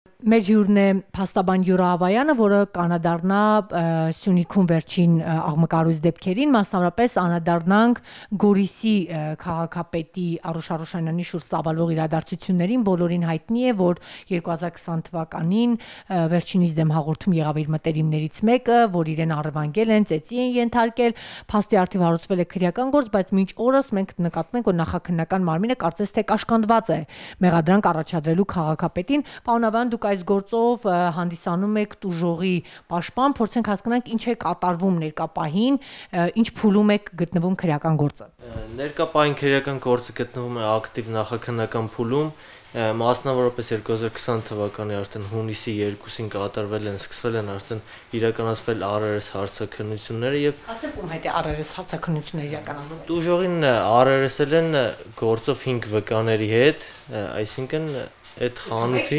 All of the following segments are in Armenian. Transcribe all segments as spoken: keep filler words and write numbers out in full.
Մեր հյուրն է փաստաբան Յուրա Ավայանը, որը կանադառնա Սյունիքում վերջին աղմկարույց դեպքերին, մասնավորապես անդրադառնանք Գորիսի քաղաքապետի Արուշ Արուշանյանի շուրջ ծավալվող իրադարձություններին, բոլորին հայտնի է, որ երկու հազար քսան թվականին վերջինիս դեմ հաղորդում եղավ իր մտերիմներից մեկը, որ իրեն առևանգել են, ծեծի են ենթարկել, փաստի առթիվ հարուցվել է քրեական գործ, բայց մինչ օրս մենք նկատում ենք, որ նախաքննական մարմինը կարծես թե կաշկանդված է մեղադրանք առաջադրելու քաղաքապետին, պարոն դուք այս գործով հանդիսանում եք տուժողի պաշտպան, փորձենք հասկանանք ինչ է կատարվում ներկապահին, ինչ փուլում եք գտնվում քրեական գործը։ Ներկապահին քրեական գործը գտնվում է ակտիվ նախաքննական փուլում, մասնավորապես երկու հազար քսան թվականի արդեն հունիսի երկուսին կատարվել են, սկսվել են արդեն իրականացվել ար էր էս հարցաքննությունները եւ ասեք ում հետ է ար էր էս հարցաքննությունները իրականացվել։ Տուժողին ար էր էս-ել են գործով հինգ վկաների հետ, այսինքն այդ խանութի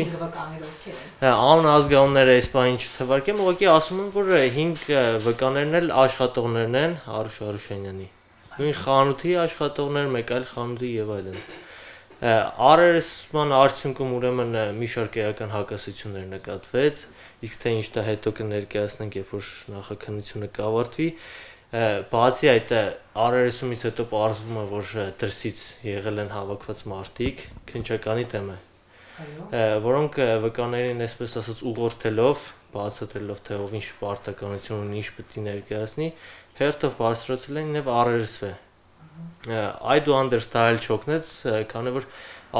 անուն ազգանունները այս բանին չթվարկեմ, ուղղակի ասում եմ, որ հինգ վկաներն էլ աշխատողներն են Արուշ Արուշանյանի։ Նույն խանութի աշխատողներ, մեկ այլ խանութի եւ այլն։ ար էր էս-ման արդյունքում ուրեմն մի շարք էական հակասություններ նկատվեց, իսկ թե ինչ դա հետո կներկայացնենք, երբ որ նախաքննությունը կավարտվի, բացի այդ ար էր էս-ումից հետո պարզվում է, որ դրսից եղել են հավաքված մարդիկ, քննչականի դեմ է, որոնք վկաներին այսպես ասած ուղղորդելով, բացատրելով թե ով ինչ պարտականություն ունի, ինչ պետք է ներկայացնի, հերթով բարձրացրել են եւ ար էր էս-ը։ Այդուհանդերձ դա էլ չօգնեց, քանի որ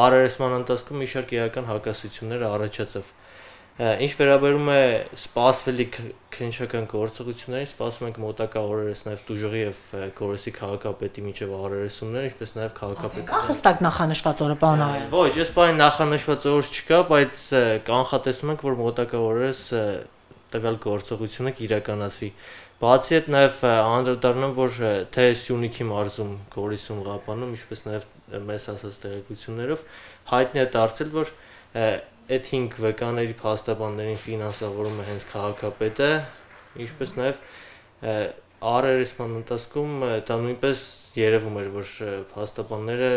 ար էր էս-ման ընթացքում մի շարք էական հակասություններ առաջացավ։ Ինչ վերաբերում է սպասվելի քննչական գործողություններին, սպասում ենք մոտակա օրերս նաև տուժողի եւ Գորիսի քաղաքապետի միջև ար էր էս-ումներ, ինչպես նաև քաղաքապետի։ Կա հստակ նախանշված օրը, պարոն Ավայան։ Ոչ, այս բանի նախանշված օր չկա, բայց կանխատեսում ենք, որ մոտակա օրերս տվյալ գործողությունը կիրականացվի։ Բացի այդ նաև անդրադառնամ, որ թե Սյունիքի մարզում, Գորիսում, Ղապանում, ինչպես նաև մեզ ասած տեղեկություններով հայտնի է դարձել, որ այդ հինգ վկաների փաստաբաններին ֆինանսավորում է հենց քաղաքապետը, ինչպես նաև ար էր էս-ման ընթացքում դա նույնպես երևում էր, որ փաստաբանները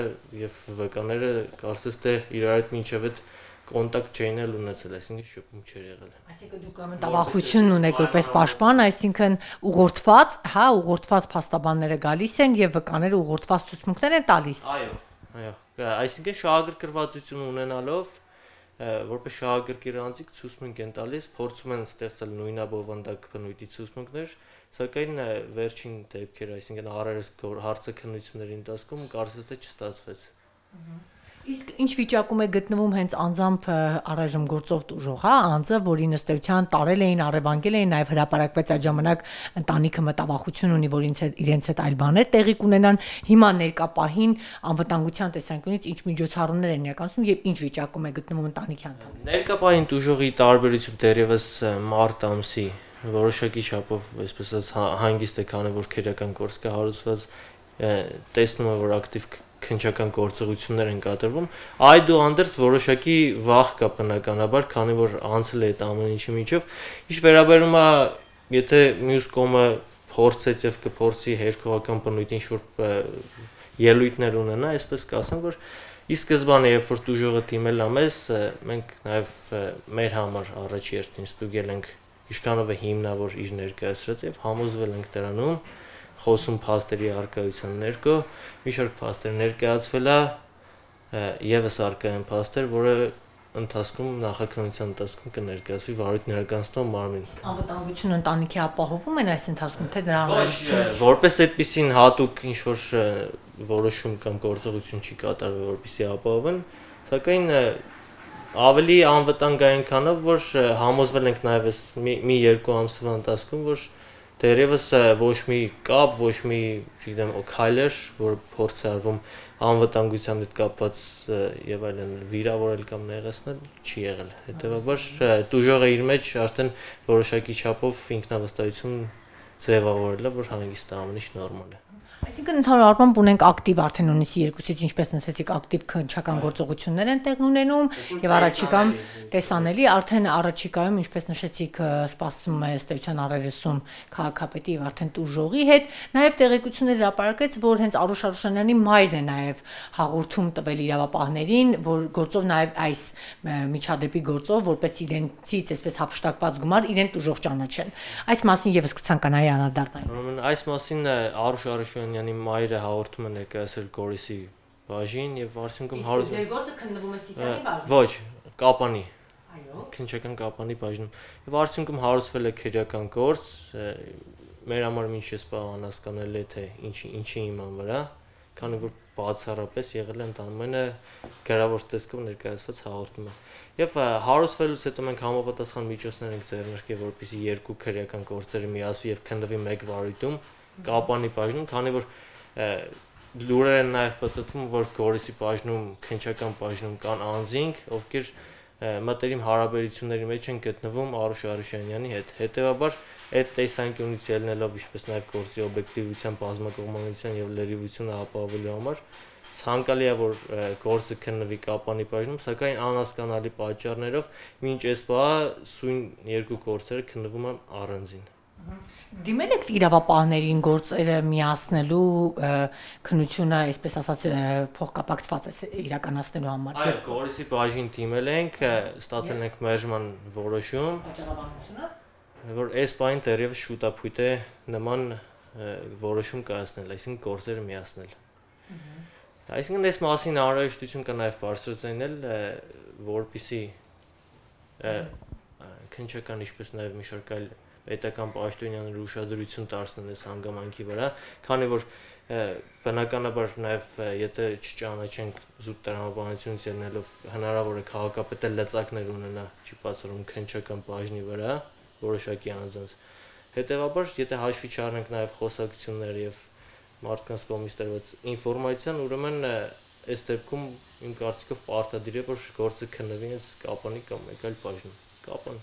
եւ վկաները կարծես թե իրար հետ մինչեւ այդ կոնտակտ չէին էլ ունեցել, այսինքն շփում չէր եղել։ Այսինքն դուք մտավախություն ունեք որպես պաշտպան, այսինքն ուղղորդված, հա, ուղղորդված փաստաբանները գալիս են եւ վկաները ուղղորդված ցուցմունքներ են տալիս։ Այո, այո, այսինքն շահագրգռվածություն ունենալով որպես շահագրգիռ անձիկ ցուցմունք են տալիս, փորձում են ստեղծել նույնաբովանդակ բնույթի ցուցմունքներ, սակայն վերջին դեպքերը, այսինքն ար էր էս հարցաքննությունների ընթացքում կարծես թե չստացվեց։ Իսկ ինչ վիճակում է գտնվում հենց անձամբ առայժմ գործող տուժող, հա, անձը, որի ըստեյության տարել էին, առևանգել էին, նաև հրապարակվեց այդ ժամանակ ընտանիքը մտավախություն ունի, որ իրենց հետ այլ բաներ տեղի կունենան, հիմա ներկապահին անվտանգության տեսանկյունից ինչ միջոցառումներ են իրականացնում եւ ինչ վիճակում է գտնվում ընտանիքի անդամները։ Ներկապահին տուժողի տարբերություն դեռևս մարտ ամսի որոշակի չափով, այսպես ասած, հանգիստ է, քանի որ քրեական գործ կա հարուցված, տեսնում է, որ ակտիվ քննչական գործողություններ են կատարվում, այդուհանդերձ որոշակի վախ կա բնականաբար, քանի որ անցել է այդ ամեն ինչի միջով, ինչ վերաբերում է, եթե մյուս կողմը փորձեց եւ կփորձի հերքողական բնույթին շուրջ ելույթներ ունենա, այսպես կասեմ, որ ի սկզբանե, երբ որ տուժողը դիմել է մեզ, մենք նաեւ մեր համար առաջի հերթին ստուգել ենք ինչքանով է հիմնավոր իր ներկայացրած եւ համոզվել ենք դրանում, խոսում փաստերի արկայության ներքո, մի շարք փաստեր ներկայացվել է եւս արկայեն փաստեր, որը ընթացքում նախաքննության ընթացքում կներկայացվի վարույթ ներկայացնող մարմին։ Անվտանգությունը ընտանիքի ապահովում են այս ընթացքում, թե դրա անհրաժեշտություն։ Որպես այդպեսին հատուկ ինչ որ որոշում կամ գործողություն չի կատարվել, որպեսզի ապահովեն, սակայն ավելի անվտանգ այնքանով, որ համոզվել ենք նաեւ մի երկու ամսվա ընթացքում, որ դերևս ոչ մի կապ, ոչ մի, չգիտեմ, քայլեր, որ փորձ է արվում անվտանգության հետ կապված եւ այլն վիրավորել կամ նեղացնել, չի եղել։ Հետեւաբար տուժողը իր մեջ արդեն որոշակի չափով ինքնավստահություն ձևավորել է, որ հանգիստ է, ամեն ինչ նորմալ է։ Այսինքն ընդհանուր առմամբ ունենք ակտիվ արդեն ունիսի երկուսից ինչպես նշեցիք ակտիվ քննչական գործողություններ են տեղի ունենում եւ առաջիկայում տեսանելի արդեն առաջիկայում ինչպես նշեցիք սպասվում է ըստ էության առերեսում քաղաքապետի եւ արդեն տուժողի հետ նաեւ տեղեկություններ հրապարակեց որ հենց Արուշ Արուշանյանի մայրն է նաեւ հաղորդում տվել իրավապահներին որ գործով նաեւ այս միջադեպի գործով որպես իրենցից այսպես հափշտակված գումար իրեն տուժող ճանաչեն այս մասին եւս կցանկանայի անդրադառնալ ուրեմն այս մասին Արուշ Արուշանյանի մայրը հաղորդում է ներկայացրել Գորիսի բաժին եւ արդյունքում հարուր Ձեր գործը քննվում է Սիսիանի բաժնում Ոչ, Կապանի Այո քննչական Կապանի բաժնում եւ արդյունքում հարուցվել է քրեական գործ մեր համար ինչ ես բա անհասկանալի է թե ինչի ինչի իման վրա քանի որ բացառապես եղել է ընդամենը գրավոր տեսքով ներկայացված հաղորդումը եւ հարուցվելուց հետո մենք համապատասխան միջոցներ ենք ձեռնարկել որպեսզի երկու քրեական գործերը միասվի եւ քննվի մեկ վարույթում Կապանի բաժնում քանի որ լուրեր են նաեւ պատտվում որ Գորիսի բաժնում քննչական բաժնում կան անձինք ովքեր մտերիմ հարաբերությունների մեջ են գտնվում Արուշ Արուշանյանի հետ հետեւաբար այդ տեսանկյունից ելնելով ինչպես նաեւ գործի օբյեկտիվության բազմակողմանության եւ լրիվությունը ապահովելու համար ցանկալի է որ գործը քննվի Կապանի բաժնում սակայն անհասկանալի պատճառներով մինչ այսպա սույն երկու գործերը քննվում են առանձին Դիմել եք իրավապահներին գործերը միացնելու քննությունը, այսպես ասած, փոխկապակցված է իրականացնելու համար։ Այո, Գորիսի բաժին դիմել ենք, ստացել ենք մերժման որոշում։ Պատճառաբանությունը, որ այս բանը դեռևս շուտապույտ է նման որոշում կայացնել, այսինքն գործերը միացնել։ Այսինքն այս մասին անհրաժեշտություն կա նաև բարձրացնել, որպեսզի քննչական ինչպես նաև մի շարք այլ պետական պաշտոնյաների ուշադրություն դարձնեն այս հանգամանքի վրա, քանի որ բնականաբար նաև եթե չճանաչենք զուտ տրամաբանությունից ելնելով հնարավոր է քաղաքապետը լծակներ ունենա, չի բացառում քննչական բաժնի վրա որոշակի անձանց։ Հետևաբար, եթե հաշվի չառնենք նաև խոսակցություններ եւ մարդկանց կողմից տրված ինֆորմացիան, ուրեմն այս դեպքում իմ կարծիքով պարտադիր է որ գործը քննվի հենց Կապանի կամ մեկ այլ բաժնում։ Կապան։